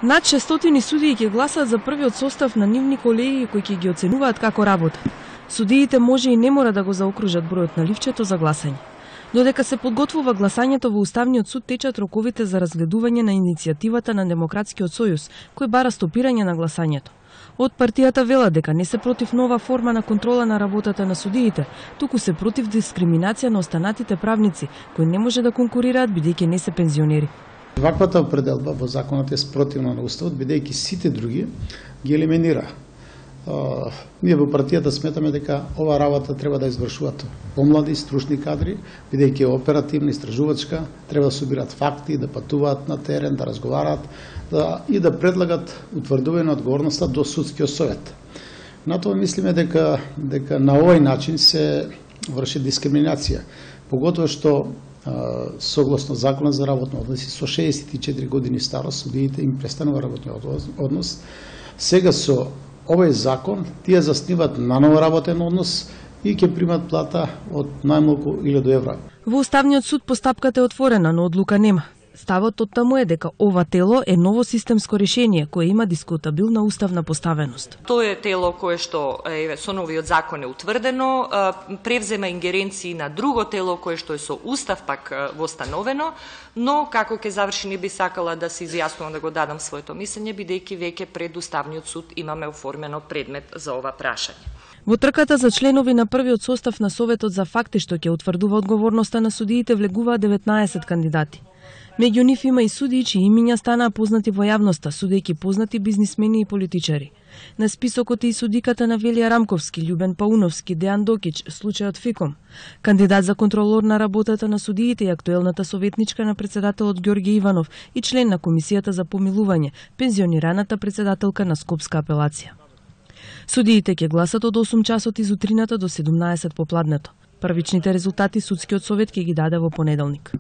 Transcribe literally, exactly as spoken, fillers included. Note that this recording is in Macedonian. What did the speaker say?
Над шестстотини судии ќе гласаат за првиот состав на нивни колеги кои ќе ги оценуваат како работат. Судиите може и не мора да го заокружат бројот на ливчето за гласање. Додека се подготвува гласањето во Уставниот суд течат роковите за разгледување на иницијативата на Демократскиот сојуз, кој бара стопирање на гласањето. Од партијата велат дека не се против нова форма на контрола на работата на судиите, туку се против дискриминација на останатите правници, кои не може да конкурираат бидејќи не се пензионери. Ваквата определба во законот е спротивна на Уставот, бидејќи сите други ги елиминира. Uh, ние во партијата сметаме дека ова работа треба да извршуваат помлади, стручни кадри, бидејќи е оперативна, истражувачка, треба да собираат факти, да патуваат на терен, да разговараат да, и да предлагат утврдување на одговорноста до судскиот совет. На тоа мислиме дека, дека на овој начин се врши дискриминација, поготово што uh, согласно Законот за работни односи со шеесет и четири години старост судиите им престанува работниот однос. Сега со овој закон тие засниваат наново работен однос и ќе примат плата од најмалку илјаду евра. Во Уставниот суд постапката е отворена, но одлука нема. Ставот од таму е дека ова тело е ново системско решение кое има дискутабилна уставна поставеност. Тоа е тело кое што е со новиот закон е утврдено, превзема ингеренции на друго тело кое што е со устав пак востановено, но како ќе заврши не би сакала да се изјаснувам да го дадам своето мислење, бидејќи веќе пред Уставниот суд имаме оформено предмет за ова прашање. Во трката за членови на првиот состав на Советот за факти што ќе утврдува одговорноста на судиите влегуваат деветнаесет кандидати. Меѓу нив има и судии чии имиња станаа познати во јавноста, судејќи познати бизнисмени и политичари. На списокот е и судиката на Велија Рамковски, Љубен Пауновски, Дејан Докич, случајот Фиком. Кандидат за контролор на работата на судиите и актуелната советничка на председателот Ѓорѓе Иванов и член на Комисијата за помилување, пензионираната председателка на Скопска апелација. Судиите ќе гласат од осум часот изутрината до седумнаесет попладнето. Првичните резултати судскиот совет ќе ги даде во понеделник.